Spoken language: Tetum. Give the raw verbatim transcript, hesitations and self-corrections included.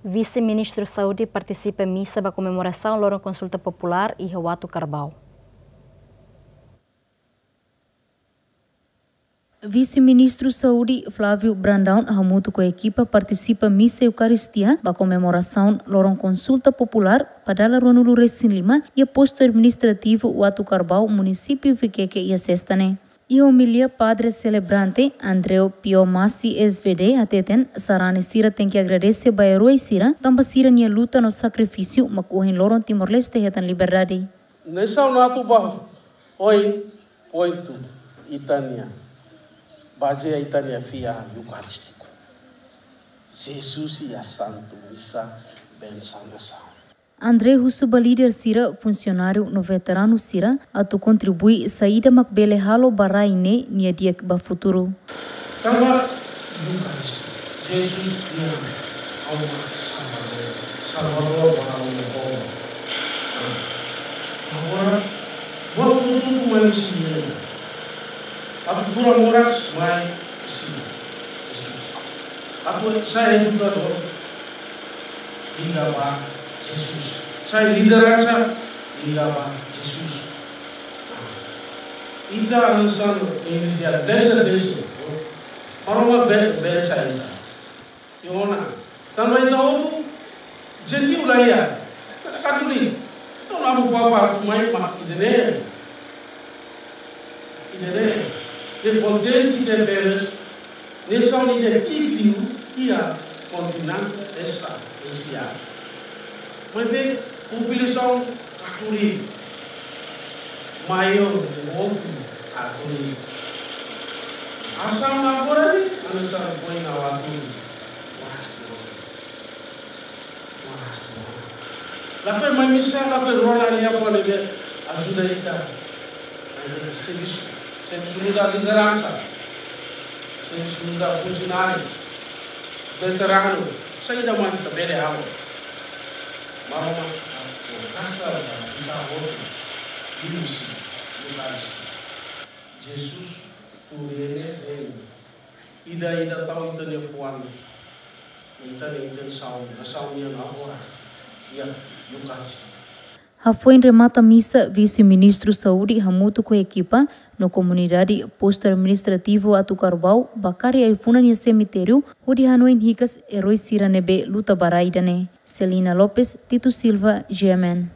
Vise-Ministru Saúde partisipa misa ba komemorasaun loron konsulta populár iha Uatucarbau. Vise-Ministru Saúde Flávio Brandão hamutuk ho ekipa partisipa misa Eukaristia ba komemorasaun loron konsulta populár ba dala ruanulu-resin-lima iha postu administrativu Uatucarbau, munisípiu Viqueque, iha sesta ne'e. Iha omilia, Padre Selebrante Andreu Pio Massi, S V D, hateten sarani sira tenke agradese ba eroi sira tanba sira-nia luta no sakrifísiu mak ohin loron Timor-Leste hetan liberdade. Nasaun atu ba oin pointu ita-nia, bazeia ita-nia fiar eukarístiku. Jesus iha Santu Misa bensaun nasaun. André husu ba líder sira, funsionáriu no veteranu sira atu kontribui saida mak bele halo ba rai ne'e nia di'ak ba futuru. Tanba Eukaristia, Jesus nian Aman Salvadór, Salvadór ba ha'u-nia povu. Agora, buat hotu-hotu mai husi ne'e. Atu kura moras mai husi Jesus. Atu sai edukadór, liga ba Jesus. Sai lideransa, liga ba Jesus. Ita hanesan igreja desa desa. Maromak be, bensa ita. Iha ona. Tanba ita hotu, jentiu la iha. Ita Katólika. Entaun, amu papa atu mai mak ida-ne'e. Ida-ne'e. De kontente de veres. Nasaun ida itiu iha kontinente Esta, Asia. Maibé, populasaun Katólika maiór de outro Katólika. Hanesan agora ne'e, hanesan foin ha'u hatudu. Lakohi mai misa, lakohi rona liafuan ne'ebé ajuda ita. Servisu, servisu nu'udar lideransa, servisu nu'udar funsionáriu, veteranu, saida mak ita bele halo. Maromak, atu kasar ba ita hotu, ilusi, ilusi. Jesus, tu rene, rene. Ida-idak tau ita-nia fuan, ita-nia intensaun, nasaun nian agora, iha Eukaristia. Hafoin remata misa, Vise-Ministru Saúde hamutuk ho ekipa no komunidade postu administrativu Uatucarbau ba kari ai-funan iha semitériu, hodi hanoin hikas eroi sira ne'ebé luta ba rai ida-ne'e. Celina Lopes, Tito Silva, G M N.